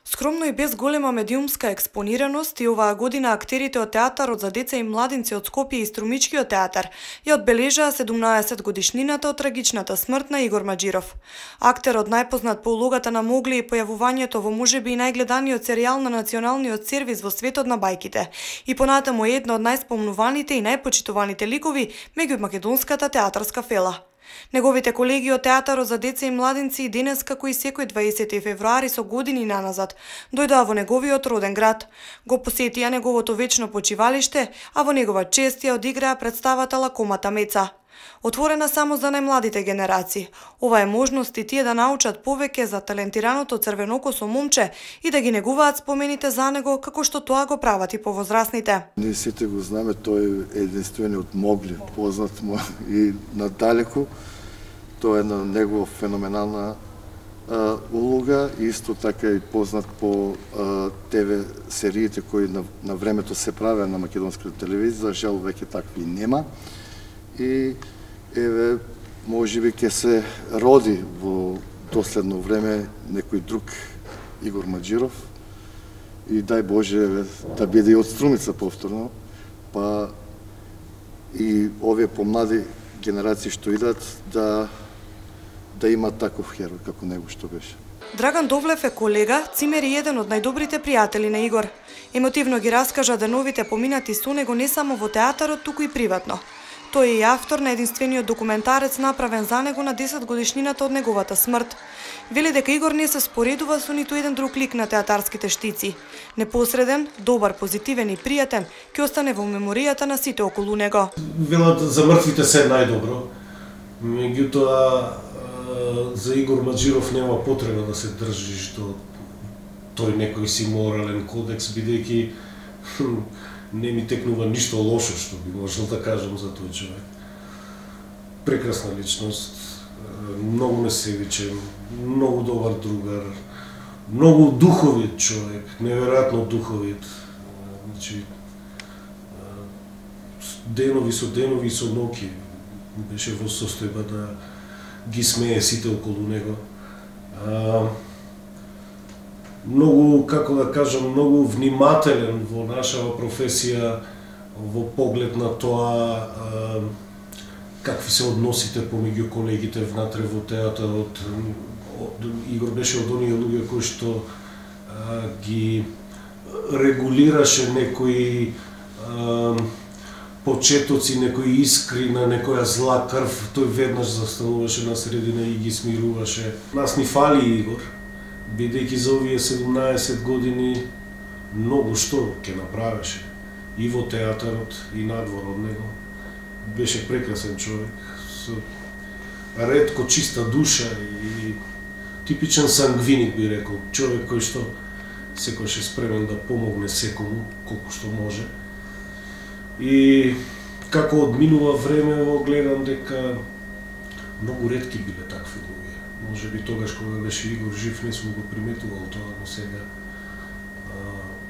Скромно и без голема медиумска експонираност и оваа година актерите од театарот за деца и младинци од Скопје и Струмичкиот театар ја одбележаа 17 годишнината од трагичната смрт на Игор Маџиров. Актерот најпознат по улогата на Могли и појавувањето во можеби и најгледаниот серијал на националниот сервис во светот на бајките и понатаму е една од најспомнуваните и најпочитуваните ликови меѓу македонската театарска фела. Неговите колеги од театарот за деца и младинци и денес, како и секој 20 февруари со години наназад, дојдоа во неговиот роден град, го посетија неговото вечно почивалиште, а во негова чест ја одиграа представата Лакомата Меца. Отворена само за најмладите генерации, ова е можност и тие да научат повеќе за талентираното црвенокосо момче и да ги негуваат спомените за него како што тоа го прават и повозрасните. Ние сите го знаме, тој е единствениот Могли, познат му и надалеку. Тоа е една негова феноменална улога, исто така и познат по ТВ сериите кои на времето се правеа на македонската телевизија, за жал веќе такви нема. И еве, можеби ќе се роди во доследно време некој друг Игор Маџиров и дај Боже еве, да биде и од Струмица повторно, па и овие помлади генерации што идат да имат таков херој како него што беше. Драган Довлев е колега, цимер и еден од најдобрите пријатели на Игор. Емотивно ги раскажа деновите поминати со него не само во театарот, туку и приватно. Тој е и автор на единствениот документарец направен за него на 10 годишнината од неговата смрт. Вели дека Игор не се споредува со ниту еден друг лик на театарските штици. Непосреден, добар, позитивен и пријатен, ќе остане во меморијата на сите околу него. Велат за мртвите се најдобро. Меѓутоа за Игор Маџиров нема потреба да се држиш до тој некој си морален кодекс, бидејќи не ми текнува ништо лошо што би можел да кажам за тој човек. Прекрасна личност, многу несебичен, многу добар другар, многу духовит човек, неверојатно духовит. Значи, денови и со ноќи беше во состојба да ги смее сите околу него. Многу, како да кажам, многу внимателен во нашава професија, во поглед на тоа какви се односите помеѓу колегите внатре во театарот. Игор беше од оние луѓе кои што ги регулираше некои почетоци, некои искри на некоја зла крв. Тој веднаш застануваше на средина и ги смируваше. Нас ни фали Игор, бидејќи за овие 17 години многу што ќе направеше и во театарот и надвор од него. Беше прекрасен човек, со ретко чиста душа и типичен сангвиник би рекол, човек кој што секојаш е спремен да помогне секому колку што може. И како одминува време, гледам дека многу ретки биле такви луѓе. Може би тогаш кога беше Игор жив не сум го приметувал тоа, но сега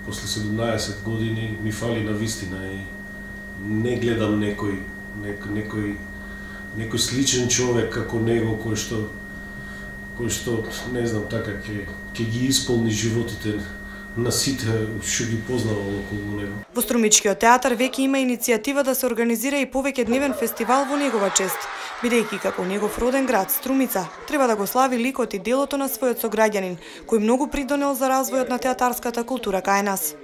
после 17 години ми фали на вистина и не гледам некој сличен човек како него кој што не знам така ќе ги исполни животите на сите што ги познавал околу него. Во Струмичкиот театар веќе има иницијатива да се организира и повеќедневен фестивал во негова чест, бидејќи како негов роден град Струмица треба да го слави ликот и делото на својот сограѓанин, кој многу придонел за развојот на театарската култура кај нас.